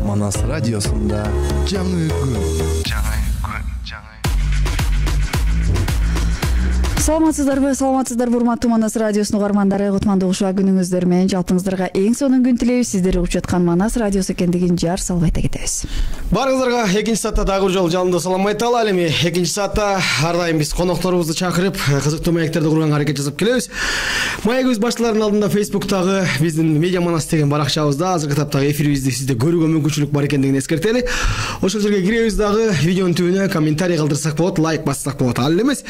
Манас радиосунда жаңы күн. Саламатсыздарбы, урматтуу Манас радиосунун угармандары. Кутмандуу ушуа күнүңүздөр менен жалпыңыздарга эң сонун күн тилейбиз. Сиздер угуп жаткан Манас радиосу экендигин жар салып айта кетебиз. Баарыңыздарга экинчи саатта дагы бир жолу жалындуу салам айталы. Ал эми экинчи саатта ар дайым биз конокторубузду чакырып, кызыктуу маектерди курганга аракет жасап келебиз. Маегибиз башталарынын алдында Facebook'тагы биздин Медиа Манас деген баракчабызда азыркы таптагы эфирибизди сизде көрүүгө мүмкүнчүлүк бар экендигин эскертели. Ошол жерге киребиз дагы видеонун түбүнө комментарий калтырсак болот, лайк бассак болот. Ал эмес,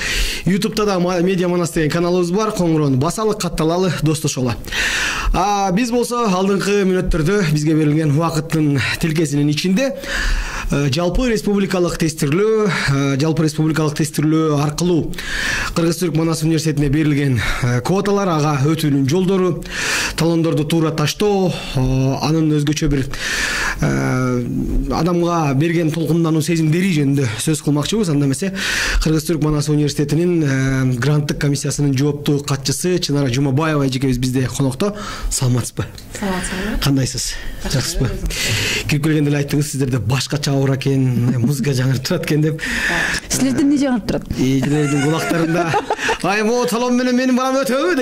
YouTube'да да Медиа Манас деген каналыбыз бар. Коңгуроonu басалы, катталалы, достошолу. Биз болсо алдыңкы мүнөттөрдө бизге берилген убакыттын тилкесинин ичинде жалпы республикалык тестирлөө аркылуу Кыргыз-Түрк Манас университетине берилген квоталар, ага өтүүнүн жолдору, талондорду туура таштоо, анын өзгөчө бир адамга берген толкундануу сезимдери жөнүндө сөз кылмакчыбыз. Анда эмесе Кыргыз-Түрк Манас университетинин гранттык комиссиясынын жооптуу катчысы Чынара Жумабаева эжекебиз бизде конокто. Саламатсызбы? Саламатсызбы. Кандайсыз? Жакшысызбы? Кирип келгенде эле айттыңыз, сиздерде башкача аура экен, музыка жаңырып турат экен деп. Силерде эмне жаңырып турат? Эжелердин кулактарында ай мо талон менен менин барам өтөбү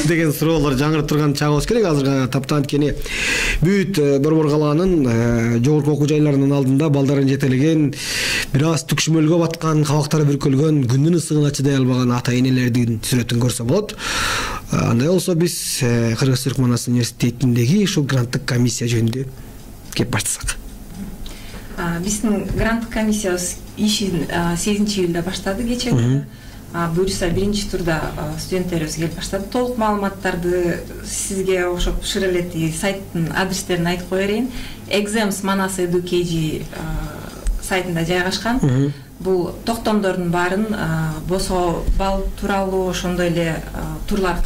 деген суроолор жаңырып турган чагы болуш керек. Азыр таптан анткени бүт Борбор калаанын жогорку окуу жайларынын алдында балдарын жетелеген, бир аз түкшүмөлгө баткан, кабактары бүркөлгөн, күндүн ысыгына чыдай албаган ата энелердин сүрөтүн көрсө болот. Андай болсо биз Кыргыз-Түрк Манас университетиндеги ушул гранттык комиссия жөнүндө кеп баштасак. Биздин гранттык комиссиябыз ишин 8-июлда баштады кечээ күнү. Буюрса биринчи турда студенттерибиз келип баштады. Толук маалыматтарды сизге окшоп шыр элети сайттын адрестерин айтып кое берейин. exams.manas.edu.kg сайтында жайгашкан. Бул токтомдордун баарын босоо балл тууралуу, ошондой эле турлар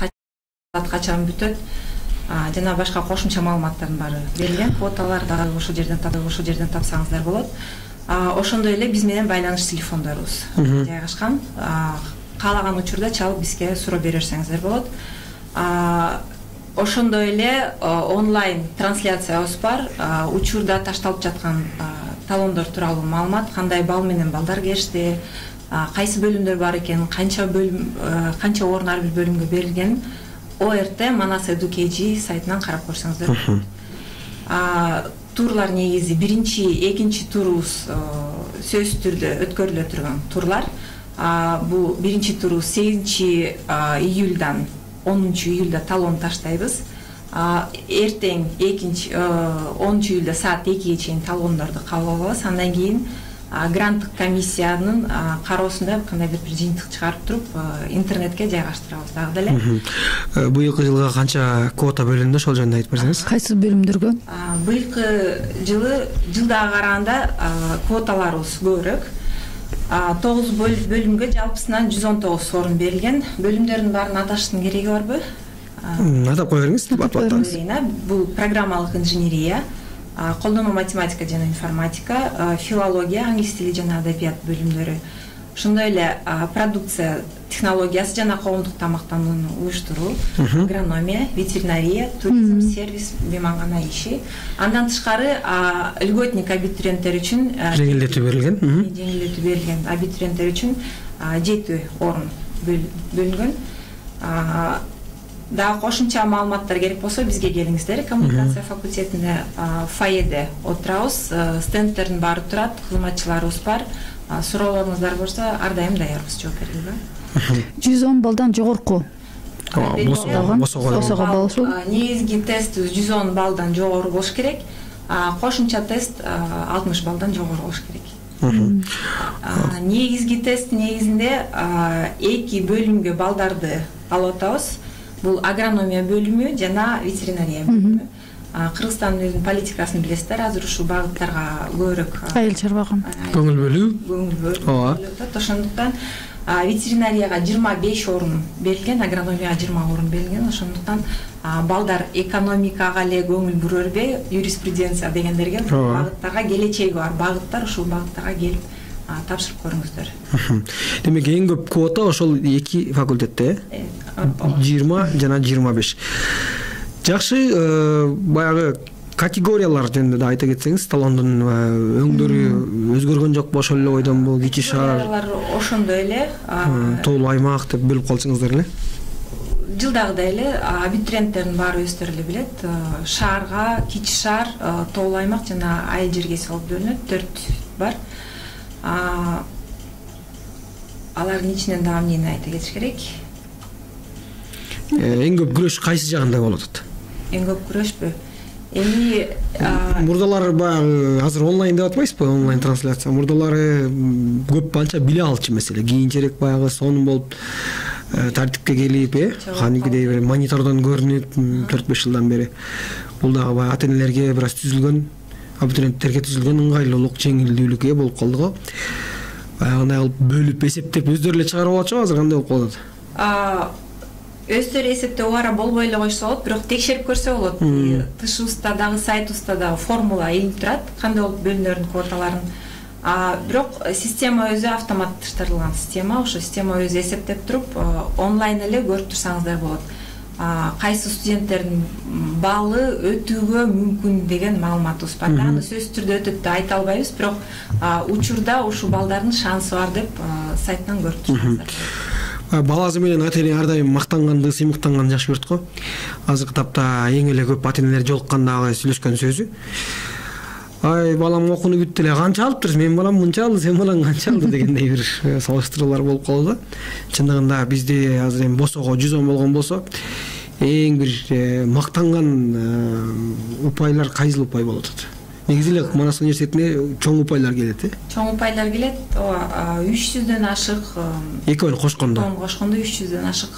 качан бүтөт, жана башка кошумча маалыматтардын баары берилген. Квоталар дагы ошол жерден тапсаңыздар болот. Ошондой эле биз менен байланыш телефондорубуз жайгашкан. Каалаган учурда чалып бизге суроо бере берсеңиздер болот. Ошондой эле онлайн трансляциябыз бар. Учурда ташталып жаткан талондор тууралуу маалымат, кандай балл менен балдар келишти, кайсы бөлүмдөр бар экен, канча орун ар бир бөлүмгө берилген, ort.manas.edu.kg сайтынан карап көрсөңүздөр болот. Турлар негизи биринчи, экинчи турубуз сөзсүз түрдө өткөрүлө турган турлар. Бул биринчи турубуз 8-июлдан 10-июлда талон таштайбыз. Эртең 10-июлда саат 2-ге чейин талондорду кабыл алабыз. Андан кийин гранттык комиссиянын кароосунда кандай бир жыйынтык чыгарып туруп интернетке жайгаштырабыз дагы деле. Быйылкы жылга канча квота бөлүндү, ошол жөнүндө айтып берсеңиз. Кайсы бөлүмдөргө? Быйылкы жылдагы караганда квоталарыбыз көбүрөөк. 9 бөлүмгө жалпысынан 119 орун берилген. Бөлүмдөрдүн баарын аташтын кереги барбы? Атап кое бериңиз. Бул программалык инженерия, колдонмо математика жана информатика, филология, англис тили жана адабият бөлүмдөрү. Ошондой эле продукция технологиясы жана коомдук тамактанууну уюштуруу, агрономия, ветеринария, туризм, сервис, меймангана иши. Андан тышкары льготник абитуриенттер үчүн жеңилдетүү берилген абитуриенттер үчүн 7 орун бөлүнгөн. Дагы кошумча маалыматтар керек болсо бизге келиңиздер. Коммуникация факультетинде фойеде отурабыз, стендтердин баары турат, кызматчыларыбыз бар. Суроолоруңуздар болсо ар дайым даярбыз жооп берүүгө. 110 баллдан жогорку босого болсо негизги тест 110 баллдан жогору болуш керек. Кошумча тест 60 баллдан жогору болуш керек. Негизги тест негизинде 2 бөлүмгө балдарды алып атабыз. Бул агрономия бөлүмү жана ветеринария бөлүмү. Кыргызстандын өзүнүн политикасын билесиздер, азыр ушул багыттарга көбүрөөк айыл чарбаган көңүл бөлүү. Ошондуктан ветеринарияга 25 орун берилген, агрономияга 20 орун берилген. Ошондуктан балдар экономикага эле көңүл бурөрбөй, юриспруденция дегендерге багыттарга келечеги бар багыттар, ушул багыттарга келип тапшырып көрүңүздөр. Демек эң көп квота ошол 2 факультетте, 20 жана 25. Жакшы, баягы категориялар жөнүндө да айта кетсеңиз, талондун өңдөрү өзгөргөн жокпу? Ошол эле бойдонбу? Кичи шаар, ошондой эле. тоолуу аймак деп бөлүп калсаңыздар эле. Жылдагыдай эле абитуриенттердин баары өздөрү эле билет. Шаарга кичи шаар, тоолуу аймак жана айыл жерге салып бөлүнөт. 4 бар. Алардын ичинен дагы эмнени айта кетиш керек? Эң көп күрөш кайсы жагында болуп атат? Эң көп күрөшпү? Эми мурдалар баягы азыр онлайн деп атпайсызбы? Онлайн трансляция. Мурдалары көп анча биле алчу маселе. Кийинчерээк баягы сонун болуп тартипке келип, кандайдыр бир монитордон көрүнүп 4-5 жылдан бери. Бул дагы баягы ата-энелерге бир аз түзүлгөн, абитуриенттерге түзүлгөн ыңгайлуулук, жеңилдүүлүккө болуп калды го. Баягындай кылып бөлүп эсептеп өздөрү эле чыгарып алчу, азыр кандай болуп калат? Өздөрү эсептөө убара болбой эле койсо болот, бирок текшерип көрсө болот. ТШУСта дагы, сайтыбызда дагы формула илинип турат, кандай болуп бөлүнөрүн квоталарын. Бирок система өзү автоматташтырылган система, ошо система өзү эсептеп туруп, онлайн эле көрүп турсаңыздар болот. Кайсы студенттердин баллы өтүүгө мүмкүн деген маалыматыбыз бар. Аны сөзсүз түрдө өтөт деп айта албайбыз, бирок учурда ушул балдардын шансы бар деп сайттан көрүп турсаңыздар. Баласы менен ата-эне ар дайым мактанганды, сыймыктанганды жакшы көрөт го. Азыркы тапта эң эле көп ата-энелер жолуккандагы сүйлөшкөн сөзү: "Ай, балам окууну бүттү эле, канча алыптыр? Мен балам мынча алды, сен балаң канча алды?" дегендей бир салыштыруулар болуп калды. Чындыгында бизде азыр эми босого 110 болгон болсо, эң бир мактанган упайлар кайсыл упай болот атат? Негизи эле Манас университетине чоң упайлар келет, Чоң упайлар келет. 300дөн ашык. Экөөнү кошкондо. 300дөн ашык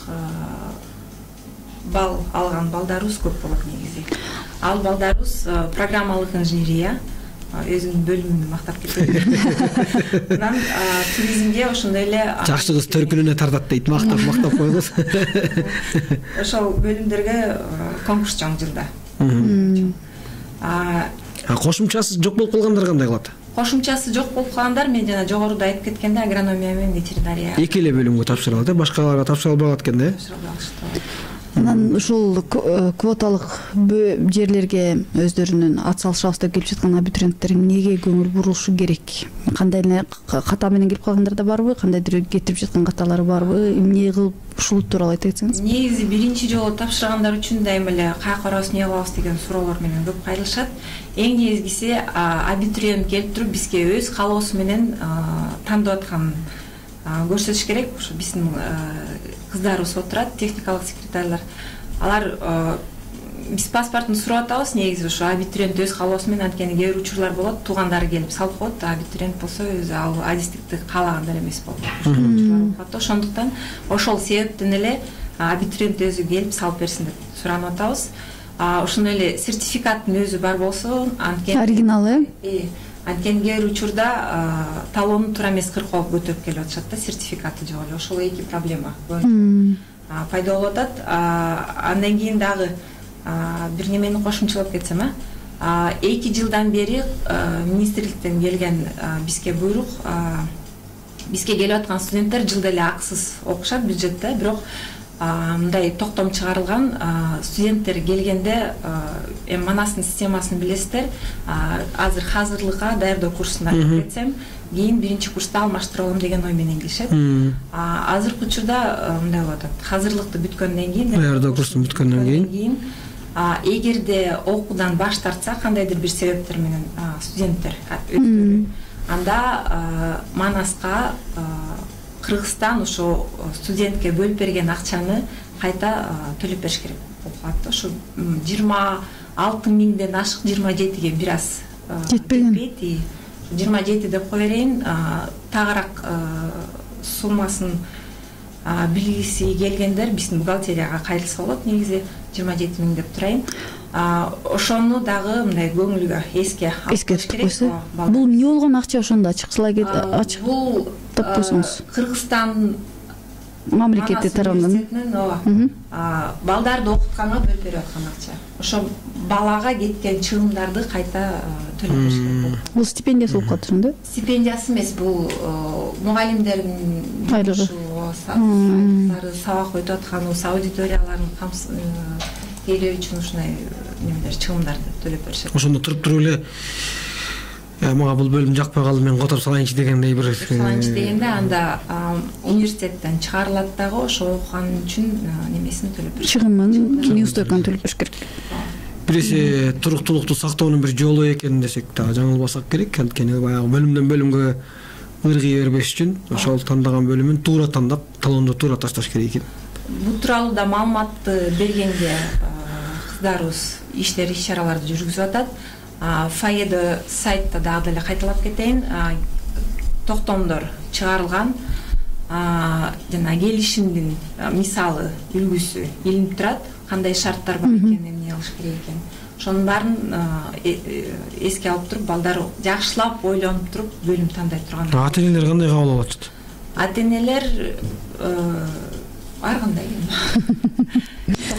балл алган балдарыбыз көп болот негизи. Ал балдарыбыз программалык инженерия, өзүнүн бөлүмүн мактап кетет. Анан туризмге ошондой эле жакшы кыз төркүнүнө тартат дейт, мактап койгуз. Ошол бөлүмдөргө конкурс чоң жылда. Кошумчасы жок болуп калгандар кандай кылат? Кошумчасы жок болуп калгандар, мен жана жогоруда айтып кеткенде, агрономия менен ветеринария. Эки эле бөлүмгө тапшырылат, башкаларга тапшыра албагат экен да? Анан ушул квоталык жерлерге өздөрүнүн ат салышабыз деп келип жаткан абитуриенттер эмнеге көңүл бурушу керек? Кандай эле ката менен келип калгандар да барбы? Кандайдыр кетирип жаткан каталары барбы? Эмне кылып ушул тууралуу айта кетсеңиз? Негизи биринчи жолу тапшыргандар үчүн дайыма эле каяка барабыз, эмне кылабыз деген суроолор менен көп кайрылышат. Эң негизгиси абитуриент келип туруп бизге өз каалоосу менен тандап аткан көрсөтүш керек. Ошо биздин кыздарыбыз отурат, техникалык секретарлар. Алар биз паспортун сурап атабыз, негизи ошо абитуриент өз каалоосу менен, анткени кээ бир учурлар болот, туугандары келип салып коет, абитуриент болсо өзү ал адистикти каалагандай эмес болот. Ошондуктан ошол себептен эле абитуриент өзү келип салып берсин деп суранып атабыз. Ошондой эле сертификаттын өзү бар болсо, анткени оригиналы. Анткени кээ бир учурда талонун туура эмес кыркоого көтөрүп келип атышат да, сертификаты жок эле. Ошол эки проблема пайда болуп атат. Андан кийин дагы бир немени кошумчалап кетсем, 2 жылдан бери министрликтен келген бизге буйрук, бизге келип аткан студенттер жылда эле акысыз окушат бюджетте, бирок мындай токтом чыгарылган, студенттер келгенде эми Манастын системасын билесиздер, азыр hazırlıkка даярдоо курсуна кирип кетсем, кийин биринчи курста алмаштырып алам деген ой менен келишет. Азыркы учурда мындай болуп атат. Hazırlıkты бүткөндөн кийин, даярдоо курсун бүткөндөн кийин, эгерде окуудан баш тартса, кандайдыр бир себептер менен студенттер, анда Манаска Кыргызстан ошо студентке бөлүп берген акчаны кайта төлөп бериш керек болуп калат. Ошо 26 миңден ашык, 27ге бир аз жетпейт. 27 деп кое берейин, тагыраак суммасын билгиси келгендер биздин бухгалтерияга кайрылса болот. Негизи 27 миң деп турайын. Ошону дагы мындай көңүлгө эске алыш керек. Бул эмне болгон акча, ошондо ачык бул таппойсоңуз? Кыргызстан мамлекети тарабынан балдарды окутканга бөлүп берип аткан акча. Ошо балага кеткен чыгымдарды кайта төлөп бериш керек. Бул стипендиясы болуп калат ошондо? Стипендиясы эмес, бул мугалимдердин айлыгы. сабак өтүп атканыбыз, аудиториялардын тейлөө үчүн ушундай немелер чыгымдарды төлөп беришет. Ошондо туруп эле мага бул бөлүм жакпай калды, мен которуп салайынчы дегендей бир салайынчы дегенде анда университеттен чыгарылат дагы ошо окуган үчүн немесин төлөп беришет. Чыгымын, неустойканы төлөп бериш керек. Биресе туруктуулукту сактоонун бир жолу экен десек дагы жаңылбасак керек. Анткени баягы бөлүмдөн бөлүмгө ыргый бербеш үчүн ошол тандаган бөлүмүн туура тандап, талонду туура ташташ керек экен. Бул тууралуу да маалыматты бергенге кыздарыбыз иштер иш-чараларды жүргүзүп атат. Фаеда сайтта дагы деле кайталап кетейин. Токтомдор чыгарылган, жана келишимдин мисалы, үлгүсү илинип турат. Кандай шарттар бар экенин, эмне кылыш керек экен. Ошонун баарын эске алып туруп, балдар жакшылап ойлонуп туруп бөлүм тандай турган. Ата-энелер кандай кабыл алып атат? Ата-энелер ар кандай.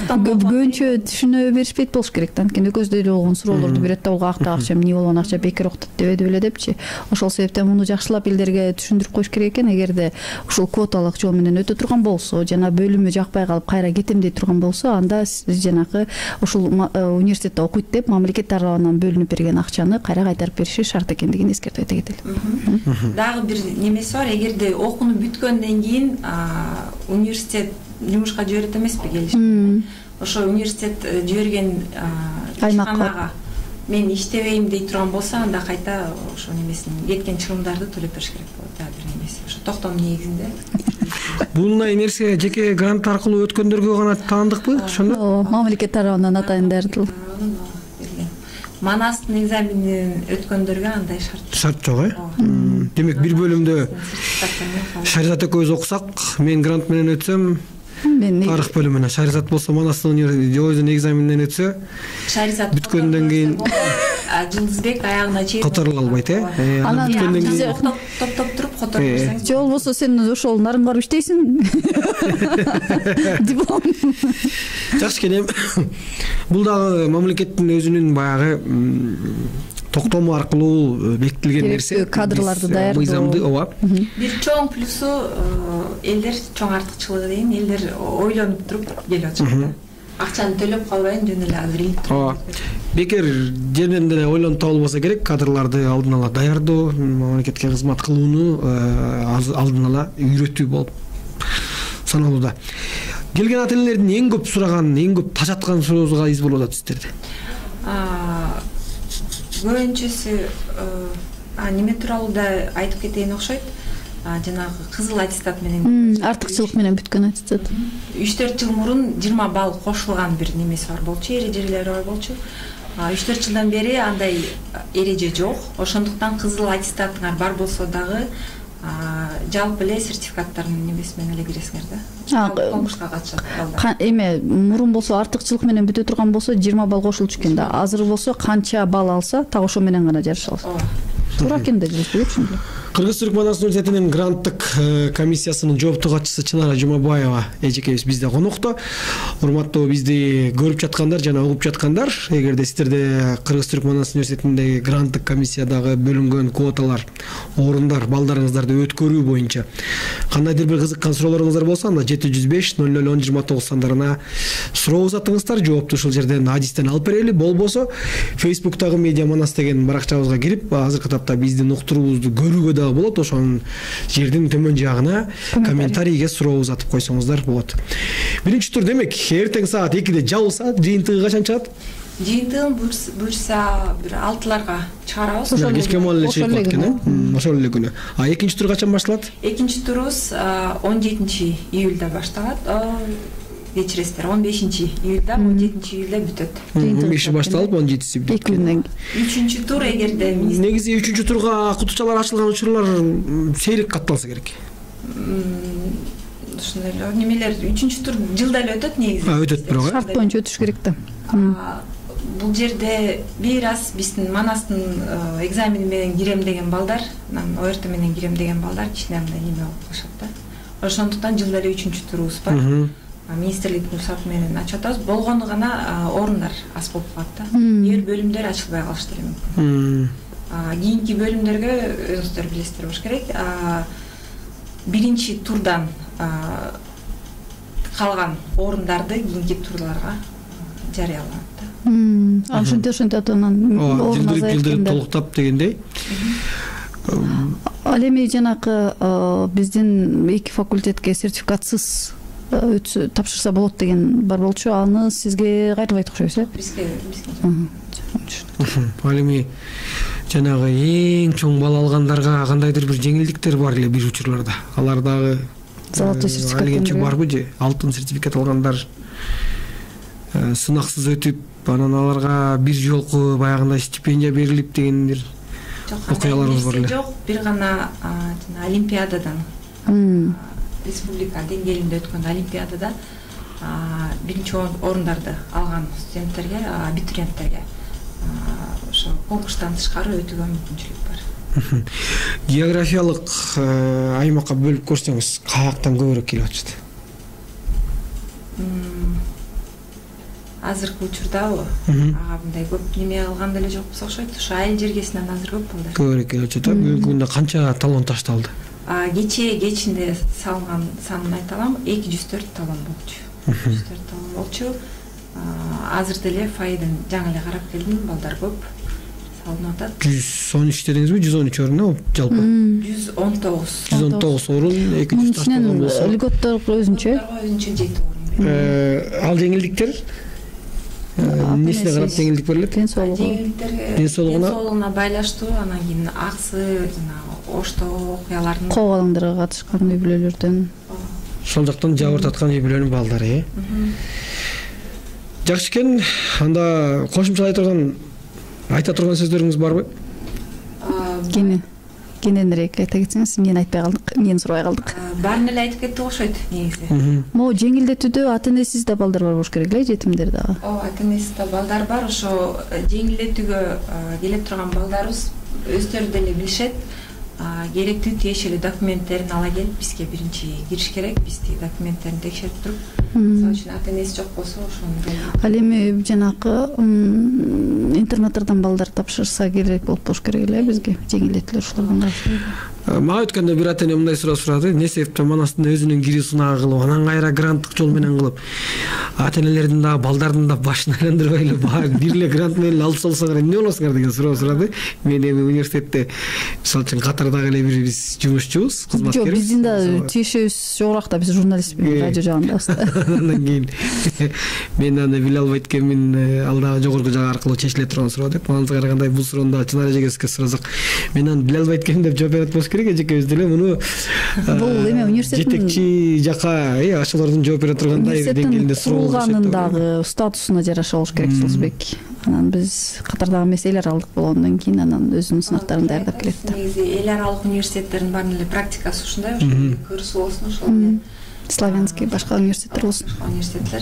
Көбүнчө түшүнө беришпейт болуш керек да. Анткени экөөбүздө эле болгон суроолорду берет да, буга акча эмне болгон акча бекер окутат дебеди беле депчи. Ошол себептен муну жакшылап элдерге түшүндүрүп коюш керек экен. Эгерде ушул квоталык жол менен өтө турган болсо, жана бөлүмү жакпай калып кайра кетем дей турган болсо, анда жанагы ушул университетте окуйт деп мамлекет тарабынан бөлүнүп берген акчаны кайра кайтарып бериши шарт экендигин эскертип айта кетели. Дагы бир немеси бар, эгерде окууну бүткөндөн кийин университет жумушка жиберет эмеспи келишимде. Ошо университет жиберген ишканага мен иштебейм дей турган болсо, анда кайта ошо немесин кеткен чыгымдарды төлөп бериш керек болот. Дагы бир немеси. Ошо токтом негизинде. Бундай нерсе жеке грант аркылуу өткөндөргө гана таандыкпы? Ошондо? Мамлекет тарабынан атайындар. Манастын экзаменин өткөндөргө андай шарт жок, Демек бир бөлүмдө Шаризат экөөбүз окусак, мен грант менен өтсөм, тарых бөлүмүнө, Шаризат болсо Манастын өзүнүн экзаменинен өтсө, бүткөндөн кийин Жылдызбек аягына чейин которула албайт, Анан топтоп туруп которуп берсең. Же болбосо сен ошол нарын барып иштейсиң. Диплом. Жакшы экен. Бул дагы мамлекеттин өзүнүн баягы токтому аркылуу бекитилген нерсе. Кадрларды даярдоо. Мыйзамды, ооба. Бир чоң плюсу элдер чоң артыкчылыгы дейин, элдер ойлонуп туруп келип атышат. Акчаны төлөп калбайын, жөн эле азыр илип туруп. Бекер жерден деле ойлонуп табылбаса керек, кадрларды алдын ала даярдоо, мамлекетке кызмат кылууну алдын ала үйрөтүү болуп саналууда. Келген ата-энелердин эң көп сураган, эң көп тажаткан суроосу кайсы болуп атат сиздерде? Көбүнчөсү неме тууралуу да айтып кетейин окшойт. Жанагы кызыл аттестат менен, артыкчылык менен бүткөн аттестат. 3-4 жыл мурун 20 балл кошулган бир немеси бар болчу, эрежелери бар болчу. 3-4 жылдан бери андай эреже жок. Ошондуктан кызыл аттестатыңар бар болсо дагы жалпы эле сертификаттардын немеси менен эле киресиңер да. Конкурска катышат балдар. Эме мурун болсо артыкчылык менен бүтө турган болсо 20 балл кошулчу экен да. Азыр болсо канча балл алса, так ошо менен гана жарыша алат. Туура экен да, түшүндүм. Кыргыз-Түркмөнстан университетинин гранттык комиссиясынын жооптуу катчысы Чынара Жумабаева эжекебиз бизде конокто. Урматтуу бизди көрүп жаткандар жана угуп жаткандар, эгерде сиздерде Кыргыз-Түркмөнстан университетиндеги гранттык комиссиядагы бөлүнгөн квоталар, орундар, балдарыңыздарды өткөрүү боюнча кандайдыр бир кызыккан суроолоруңуздар болсо, анда 705 00 1029 сандарына суроо узатыңыздар. Жоопту ушул жерден адистен алып берели. Болбосо Facebook'тагы Медиа Манас деген баракчабызга кирип, азыркы тапта биздин уктуруубузду көрүүгө да болот. Ошонун жердин төмөн жагына комментарийге суроо узатып койсоңуздар болот. Биринчи тур демек эртең саат 2-де жабылса, жыйынтыгы качан чыгат? Жыйынтыгын буюрса бир 6-ларга чыгарабыз. Кечке маал эле чыгып калат экен, ошол эле күнү. Экинчи тур качан башталат? Экинчи турубуз 17 июлда башталат. Кечиресиздер, 15 июлда, 17 июлда бүтөт. 15 башталып, 17-си бүтөт. 2 күндөн кийин. Үчүнчү тур эгерде негизи үчүнчү турга кутучалар ачылган учурлар сейрек катталса керек. Ушундай эле немелер үчүнчү тур жылда эле өтөт негизи. Өтөт бирок. Шарт боюнча өтүш керек да. Бул жерде бир аз биздин Манастын экзамени менен кирем деген балдар, ОРТ менен кирем деген балдар кичине мындай неме болуп калышат да. Ошондуктан жылда эле үчүнчү турубуз бар. Министрликтин рұқсаты менен ачып атабыз. Болгону гана орундар аз болуп калат да. Эгер бөлүмдөр ачылбай калышы деле мүмкүн. Кийинки бөлүмдөргө өзүңүздөр билесиздер болуш керек. Биринчи турдан калган орундарды кийинки турларга жарыяланат. Ошентип анан орун жылдырып толуктап дегендей. Ал эми жанакы биздин 2 факультетке сертификатсыз тапшырса болот деген бар болчу. Аны сизге кайрылбайт окшойбуз, э? Бизге. Ал эми жанагы эң чоң бала алгандарга кандайдыр бир жеңилдиктер бар эле бир учурларда. Алар дагы золотой сертификат алгенче барбы же? Алтын сертификат алгандар сынаксыз өтүп, анан аларга бир жолку баягындай стипендия берилип дегендер окуяларыбыз бар эле. Жок, бир гана олимпиададан республика деңгээлинде өткөн олимпиададан биринчи орундарды алган студенттерге, абитуриенттерге ошо конкурстан тышкары өтүүгө мүмкүнчүлүк бар. Географиялык аймакка бөлүп көрсөңүз, каяктан көбүрөөк келип атышат? Азыркы учурдабы? Мындай көп неме алган деле жокпуз окшойт. Ошо айыл жергесинен азыр көп балдар. Көбүрөөк келип атышат. Бүгүнкү күндө канча талон ташталды? Кечинде салынган санын айта алам, 204 талон болчу. 204 талон болчу. Азыр деле файдын жаңы эле карап келдим, балдар көп салынып атат. 113 дедиңизби? 113 орун жалпы? 119 орун, 200 ташталган болсо. Льготторго өзүнчө. Өзүнчө 7 орун. Ал жеңилдиктер эмнесине карап жеңилдик берилет? Денсоолугуна байланыштуу, анан кийин аксы, жана оштоо окуялардын коогалаңдарга катышкан үй бүлөлөрдөн. Ошол жактан жабыр таткан үй бүлөнүн балдары, Жакшы экен. Анда кошумчалай турган айта турган сөздөрүңүз барбы? Кененирээк айта кетсеңиз, эмнени айтпай калдык, эмнени сурабай калдык. Баарын эле айтып кеттик окшойт негизи. Могу жеңилдетүүдө ата-энесиз да балдар бар болуш керек эле, жетимдер дагы. Ата-энесиз да балдар бар. Ошо жеңилдетүүгө келип турган балдарыбыз өздөрү деле билишет. Керектүү тиешелүү документтерин ала келип бизге биринчи кириш керек. Биз тиги документтерин текшерип туруп, мисалы үчүн ата-энеси жок болсо ошону. Ал эми жанакы интернаттардан балдар тапшырса керек болуш керек эле бизге жеңилдетүүлөр ушулардан каршы. Мага өткөндө бир ата-эне мындай суроо сурады. Эмне себептен Манастын өзүнүн кири сунагы кылып, анан кайра гранттык жол менен кылып, ата-энелердин да балдардын да башын айландырбай эле бир эле грант менен алып салсаңар эмне болосуңар деген суроо сурады. Мен эми университетте мисалы үчүн Катардагы эле бир биз жумушчубуз, кызматкербиз. Жок, биздин да тиешебиз жогорак да, биз журналистпиз, радио жагындабыз. Андан кийин мен аны биле албайт экенмин, ал дагы жогорку жак аркылуу чечиле турган суроо деп. Мага караганда бул суроону да Чынар эжегебизге сурасак, мен аны биле албайт экенмин деп жооп берет болуш керек. Эжекебиз деле муну бул эме университеттин жетекчи жака, ошолордун жооп бере тургандай деңгээлинде суроо курулганын дагы статусуна жараша болуш керек Жылсбек. Анан биз Катардагы эмес эл аралык болгондон кийин анан өзүнүн сынактарын даярдап келет да. Негизи эл аралык университеттердин баардык эле практикасы ушундай, ошо кырсуу болсун, ошол славянский башка университеттер болсун. Университеттер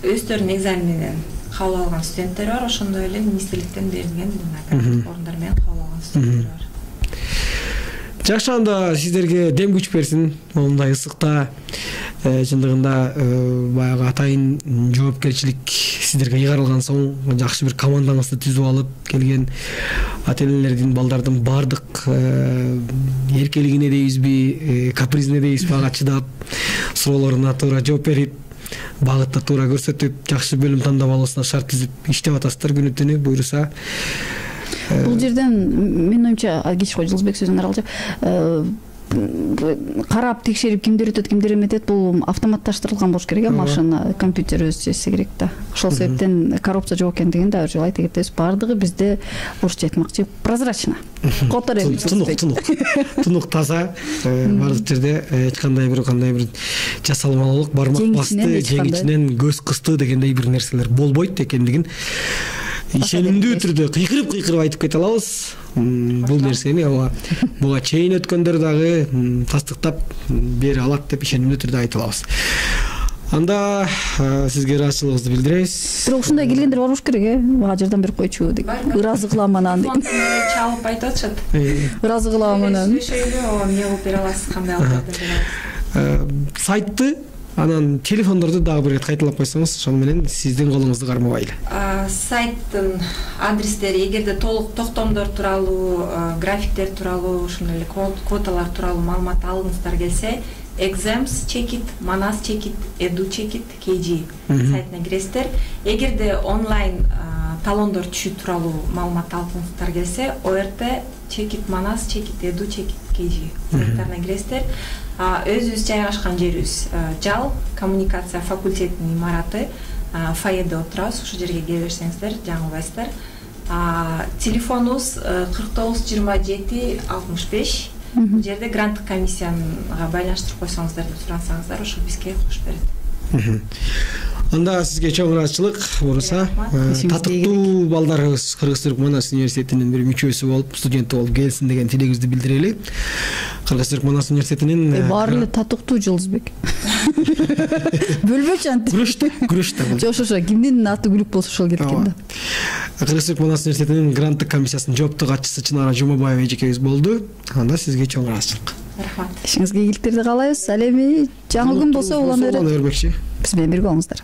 өздөрүнүн экзаменинен кабыл алган студенттер бар, ошондой эле министрликтен берилген орундар менен кабыл алган студенттер бар. Жакшы, анда сиздерге дем күч берсин. Мондай ысыкта чындыгында баягы атайын жоопкерчилик сиздерге ыйгарылган соң жакшы бир командаңызды түзүп алып келген ата-энелердин, балдардын бардык эркелигине дейбизби, капризине дейбизби, ага чыдап, суроолоруна туура жооп берип, багытты туура көрсөтүп, жакшы бөлүм тандап алуусуна шарт түзүп иштеп атасыздар күнү түнү буйруса. Бул жерден менин оюмча кеч кой Жылсбек сөзүн аралчы карап текшерип кимдер өтөт, кимдер эметет, бул автоматташтырылган болуш керек, машина, компьютер өзү чечсе керек да. Ошол себептен коррупция жок экендигин да бир жолу айта кетебиз. Бардыгы бизде орусча айтмакчы прозрачно. Котор эми тунук таза, бардык жерде эч кандай бир жасалмалуулук, бармак басты, жеңичинен көз кысты дегендей бир нерселер болбойт экендигин ишенимдүү түрдө кыйкырып айтып кете алабыз. Бул нерсени буга чейин өткөндөр дагы тастыктап бере алат деп ишенимдүү түрдө айта алабыз. Анда сизге ыраазычылыгыбызды билдиребиз. Бирок ушундай келгендер бар болуш керек, мага жардам берип койчу деп. Ыраазы кылам анан деп. Чалып айтып атышат. Ыраазы кылам анан. Шөйлө, эмне кылып бере аласыз, кандай алып бере аласыз? Сайтты, анан телефондорду дагы бир рет кайталап койсоңуз, ошол менен сиздин колуңузду кармабайлы. Сайттын адрестери, эгерде толук токтомдор тууралуу, графиктер тууралуу, ошондой эле квоталар тууралуу маалымат алгыңыздар келсе, exams чекит, Manas чекит, Edu чекит KG сайтына киресиздер. Эгерде онлайн талондор түшүү тууралуу маалымат алгыңыздар келсе, ORT чекит, Manas чекит, Edu чекит KG сайттарына киресиздер. Өзүбүз жайгашкан жерибиз Жал коммуникация факультетинин имараты, фойеде отурабыз. Ушул жерге келе берсеңиздер жаңылбайсыздар. Телефонубуз 49 27 65. Бул жерде гранттык комиссияга байланыштырып койсоңуздар деп сурасаңыздар, ошол бизге кош берет. Анда сизге чоң ыраазычылык Буруса. Татыктуу балдарыбыз Кыргыз Түрк Манас университетинин бир мүчөсү болуп, студенти болуп келсин деген тилегибизди билдирели. Кыргыз Түрк Манас университетинин баары эле татыктуу Жылдызбек. Бөлбөчү антип. Күрөштө болду. Ошо кимдин аты күлүк болсо ошол кеткен да. Кыргыз Түрк Манас университетинин гранттык комиссиясынын жооптуу катчысы Чынара Жумабаева эжекебиз болду. Анда сизге чоң ыраазычылык. Рахмат. Ишиңизге ийгиликтерди каалайбыз. Ал эми жаңы күн болсо улана берет. Бербекчи. Биз менен бирге болуңуздар.